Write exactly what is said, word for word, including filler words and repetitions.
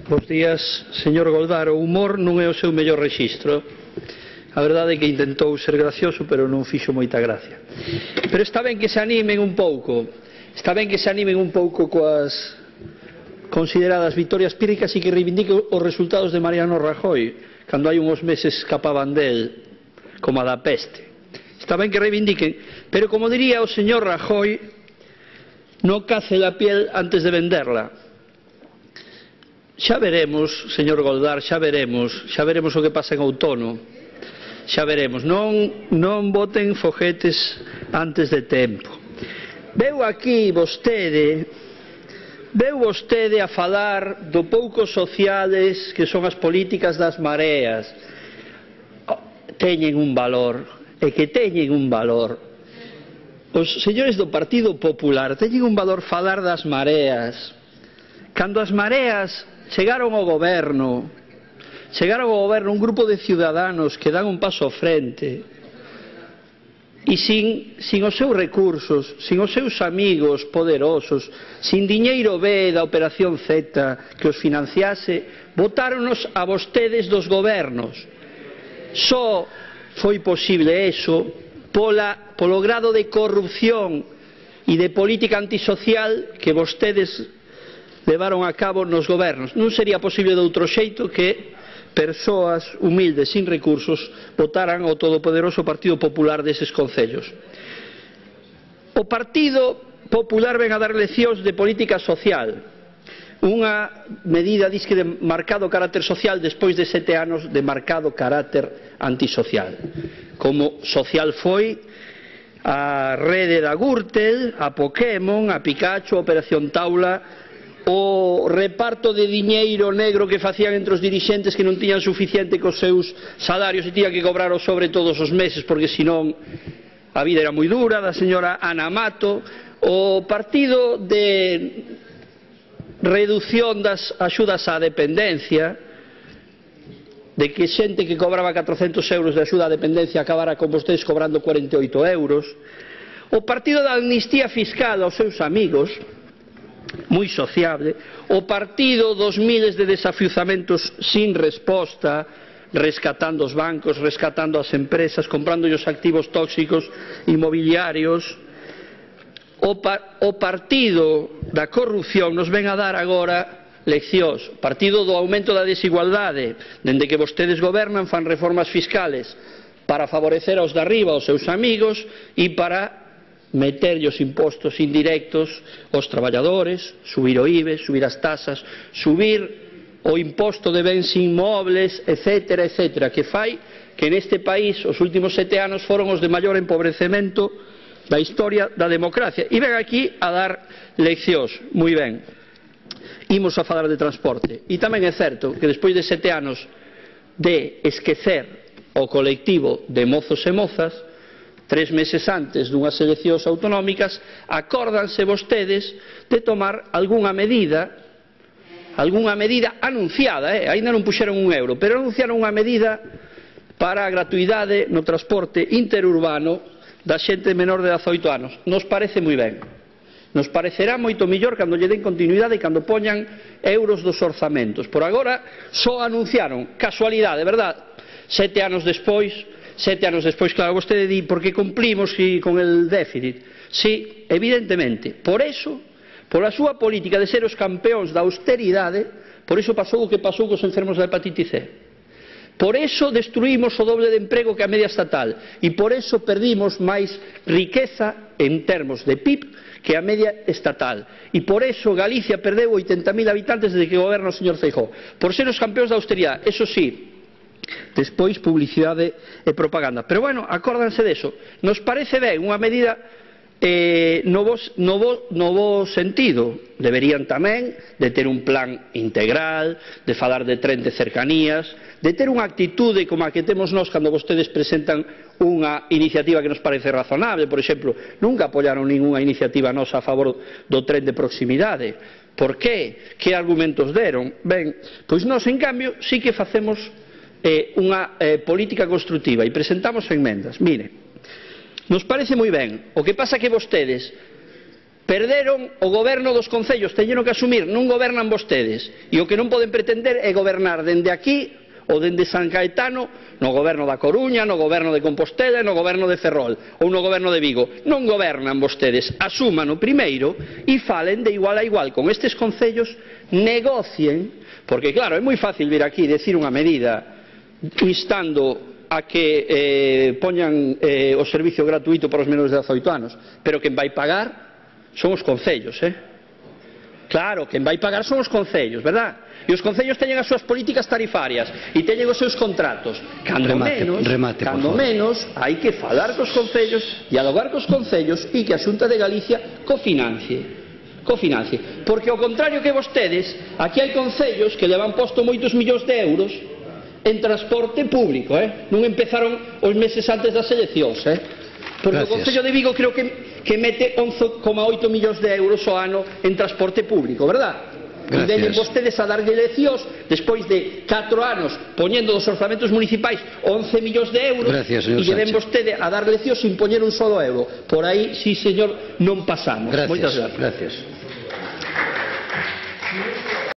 Bos días, señor Goldar. O humor non é o seu mellor rexistro. A verdade é que intentou ser gracioso, pero non fixo moita gracia. Pero está ben que se animen un pouco. Está ben que se animen un pouco coas consideradas vitorias pírricas e que reivindiquen os resultados de Mariano Rajoy, cando hai uns meses escapaban del, como a da peste. Está ben que reivindiquen, pero como diría o señor Rajoy, no cace la piel antes de venderla. Xa veremos, señor Goldar, xa veremos, xa veremos o que pasa en outono, xa veremos, non, non boten foguetes antes de tempo. Veu aquí vostede, veu vostede a falar do pouco sociales que son as políticas das mareas. Teñen un valor, e que teñen un valor. Os señores do Partido Popular teñen un valor falar das mareas. Cando as mareas chegaron ao goberno, chegaron ao goberno un grupo de ciudadanos que dan un paso ao frente e sin, sin os seus recursos, sin os seus amigos poderosos, sin diñeiro B da Operación Z que os financiase, botáronos a vostedes dos gobernos. Só foi posible eso pola, polo grado de corrupción e de política antisocial que vostedes levaron a cabo nos gobernos. Non sería posible de outro xeito que persoas humildes, sin recursos, votaran ao todopoderoso Partido Popular deses concellos. O Partido Popular ven a dar leccións de política social, unha medida disque de marcado carácter social despois de sete anos de marcado carácter antisocial. Como social foi a rede da Gürtel, a Pokémon, a Pikachu, a Operación Taula, o reparto de diñeiro negro que facían entre os dirixentes que non tiñan suficiente cos seus salarios e tiñan que cobrar o sobre todos os meses porque senón a vida era moi dura, da señora Ana Mato, o partido de reducción das axudas á dependencia, de que xente que cobraba catrocentos euros de axuda á dependencia acabara con vostedes cobrando cuarenta e oito euros, o partido da amnistía fiscal aos seus amigos, moi sociable, o partido dos miles de desafiuzamentos sin resposta, rescatando os bancos, rescatando as empresas, comprando os activos tóxicos inmobiliarios, o, pa o partido da corrupción nos ven a dar agora leccións, o partido do aumento da desigualdade, dende que vostedes gobernan fan reformas fiscales para favorecer aos de arriba, aos seus amigos, e para meterlle os impostos indirectos aos traballadores, subir o I B E, subir as tasas, subir o imposto de bens inmobles, etcétera, etcétera, que fai que neste país os últimos sete anos foron os de maior empobrecemento da historia da democracia. E ven aquí a dar leccións, moi ben. Imos a falar de transporte. E tamén é certo que despois de sete anos de esquecer o colectivo de mozos e mozas, tres meses antes dunhas eleccións autonómicas, acórdanse vostedes de tomar algunha medida, algunha medida anunciada, eh? Ainda non puxeron un euro, pero anunciaron unha medida para a gratuidade no transporte interurbano da xente menor de dezaoito anos. Nos parece moi ben. Nos parecerá moito mellor cando lle den continuidade e cando poñan euros dos orzamentos. Por agora, só anunciaron, casualidade, verdad? Sete anos despois, Sete anos despois, claro, vostede di, porque cumplimos con el déficit. Sí, evidentemente. Por eso, por a súa política de ser os campeóns da austeridade, por eso pasou o que pasou cos enfermos da hepatite C. Por eso destruímos o doble de emprego que a media estatal. E por eso perdimos máis riqueza en termos de P I B que a media estatal. E por eso Galicia perdeu oitenta mil habitantes desde que goberna o señor Feijóo. Por ser os campeóns da austeridade. Eso sí, despois publicidade e propaganda. Pero bueno, acórdanse deso. Nos parece ben unha medida eh, no, bo, no, bo, no bo sentido. Deberían tamén de ter un plan integral, de falar de tren de cercanías, de ter unha actitude como a que temos nós cando vostedes presentan unha iniciativa que nos parece razonable. Por exemplo, nunca apoiaron ninguna iniciativa nosa a favor do tren de proximidade. Por qué? Que argumentos deron? Ben, pois nós, en cambio, sí que facemos Eh, unha eh, política construtiva e presentamos enmendas. Mire, nos parece moi ben. O que pasa que vostedes Perderon o goberno dos concellos, teñeron que asumir, non gobernan vostedes, e o que non poden pretender é gobernar dende aquí ou dende San Caetano, no goberno da Coruña, no goberno de Compostela, no goberno de Ferrol ou no goberno de Vigo. Non gobernan vostedes, asúmano primeiro e falen de igual a igual con estes concellos, negocien, porque claro, é moi fácil vir aquí e decir unha medida instando a que eh, poñan eh, o servicio gratuito para os menores de dezaoito anos, pero quen vai pagar son os concellos, eh? Claro, quen vai pagar son os concellos, verdad? E os concellos teñen as súas políticas tarifarias e teñen os seus contratos. Cando remate, menos, remate, cando menos, hai que falar cos concellos, dialogar cos concellos e que a Xunta de Galicia cofinancie. Cofinancie. Porque ao contrario que vostedes, aquí hai concellos que levan posto moitos millóns de euros en transporte público, eh? Non empezaron os meses antes das eleccións, eh? Porque Gracias. o Concello de Vigo creo que, que mete once coma oito millóns de euros ao ano en transporte público, verdad? E veñen vostedes a darlle leccións despois de catro anos poñendo dos orzamentos municipais once millóns de euros. Gracias, e lle ven vostede a dar leccións sin poñer un solo euro. Por aí, sí señor, non pasamos. Gracias. Moitas gracias. Gracias.